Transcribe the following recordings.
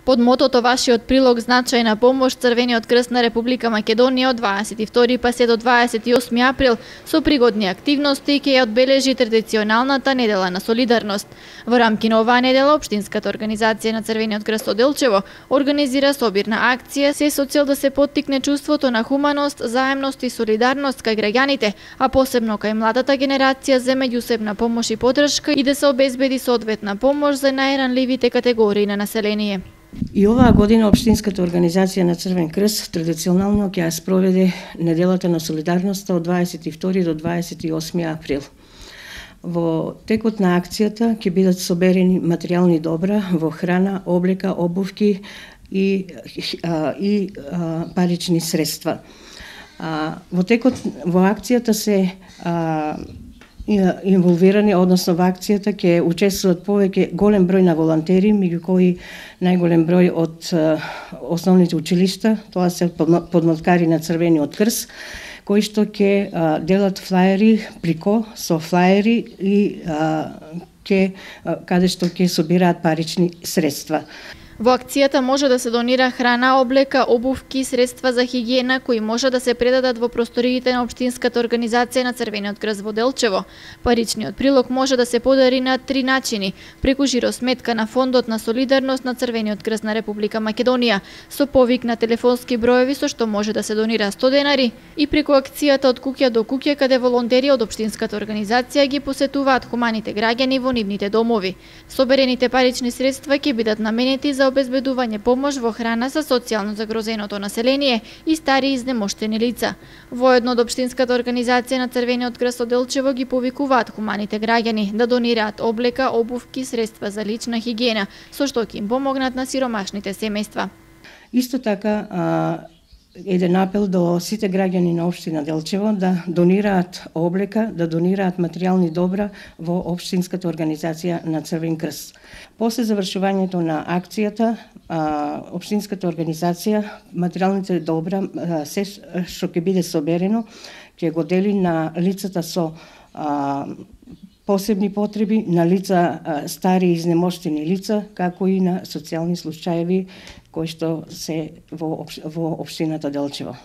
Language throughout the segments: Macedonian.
Под мотото Вашиот прилог значајна помош, Црвениот крст на Република Македонија од 22 па се до 28 април со пригодни активности ќе ја одбележи традиционалната недела на солидарност. Во рамки на оваа недела општинската организација на Црвениот крст од Делчево организира собирна акција се со цел да се поттикне чувството на хуманост, заемност и солидарност кај граѓаните, а посебно кај младата генерација за меѓусебна помош и поддршка и да се обезбеди соодветна помош за најранливите категории на население. И оваа година општинската организација на Црвен крст традиционално ќе ја спроведе неделата на солидарноста од 22 до 28 април. Во текот на акцијата ќе бидат соберени материјални добра во храна, облека, обувки и парични средства. Во акцијата се инволвирани, односно во акцијата ќе учествуваат повеќе голем број на волонтери, меѓу кои најголем број од основните училишта, тоа се подмоткари на Црвениот крст, кои што ќе делат флаери прико со флаери и каде што ќе собираат парични средства. Во акцијата може да се донира храна, облека, обувки, средства за хигиена кои може да се предадат во просториите на општинската организација на Црвениот крст во Делчево. Паричниот прилог може да се подари на 3 начини: преку жиросметка на Фондот на солидарност на Црвениот крст на Република Македонија, со повик на телефонски броеви со што може да се донира 100 денари, и преку акцијата од куќа до куќа каде волонтери од општинската организација ги посетуваат хуманите граѓани во нивните домови. Соберените парични средства ќе бидат наменети за обезбедување помош во храна за социјално загрозеното население и стари изнемоштени лица. Воедно од општинската организација на Црвениот крст од Делчево ги повикуваат хуманите граѓани да донираат облека, обувки, средства за лична хигиена, со што ќе им помогнат на сиромашните семејства. Исто така еден апел до сите граѓани на општина Делчево да донираат облека, да донираат материјални добра во општинската организација на Црвен крст. После завршувањето на акцијата, општинската организација материјалните добра се што ќе биде соберено ќе го дели на лицата со посебни потреби, на лица стари и изнемоштени лица, како и на социјални случаеви кои што се во општината Делчево.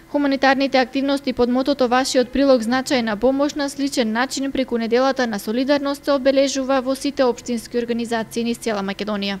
Хуманитарните активности под мотото Вашиот прилог значајна помош на сличен начин преку неделата на солидарност се обележува во сите општински организации низ цела Македонија.